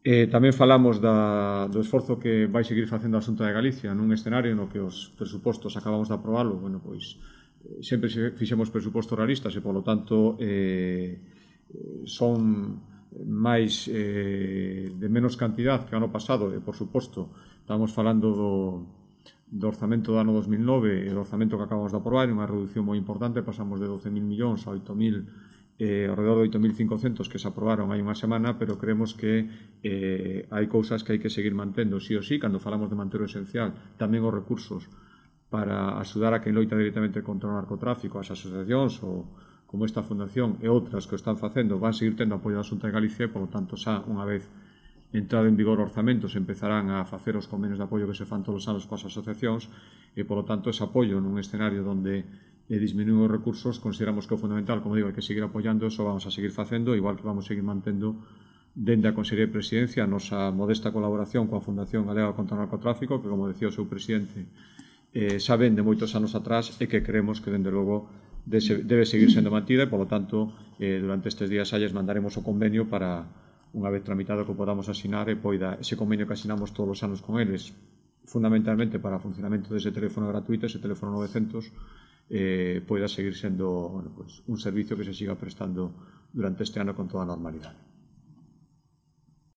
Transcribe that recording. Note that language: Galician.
Tamén falamos do esforzo que vai seguir facendo a Xunta de Galicia nun escenario no que os presupostos acabamos de aprobalo, sempre fixemos presupostos realistas e, polo tanto, son máis de menos cantidad que o ano pasado e, por suposto, estamos falando do orzamento do ano 2009 e do orzamento que acabamos de aprobar, unha reducción moi importante, pasamos de 12.000 millóns a 8.000, ao redor de 8.500 que se aprobaron hai unha semana, pero creemos que hai cousas que hai que seguir mantendo sí ou sí, cando falamos de manter o esencial, tamén os recursos para axudar a quen loita directamente contra o narcotráfico, as asociacións ou como esta fundación e outras que o están facendo van seguir tendo apoio da Xunta de Galicia e, polo tanto, xa unha vez entrado en vigor orzamentos empezarán a facer os convenios de apoio que se fan todos os anos coas asociacións e, polo tanto, ese apoio nun escenario onde disminuir os recursos, consideramos que é fundamental, como digo, hai que seguir apoiando, eso vamos a seguir facendo, igual que vamos a seguir mantendo dende a Consellería de Presidencia a nosa modesta colaboración coa Fundación Galega contra o Narcotráfico, que, como decía o seu presidente, xa ven de moitos anos atrás e que creemos que, dende logo, debe seguir sendo mantida e, polo tanto, durante estes días lles mandaremos o convenio para, unha vez tramitado, que podamos asinar e poida ese convenio que asinamos todos os anos con eles, fundamentalmente para o funcionamento dese teléfono gratuito, ese teléfono 900, poida seguir sendo un servicio que se siga prestando durante este ano con toda a normalidade.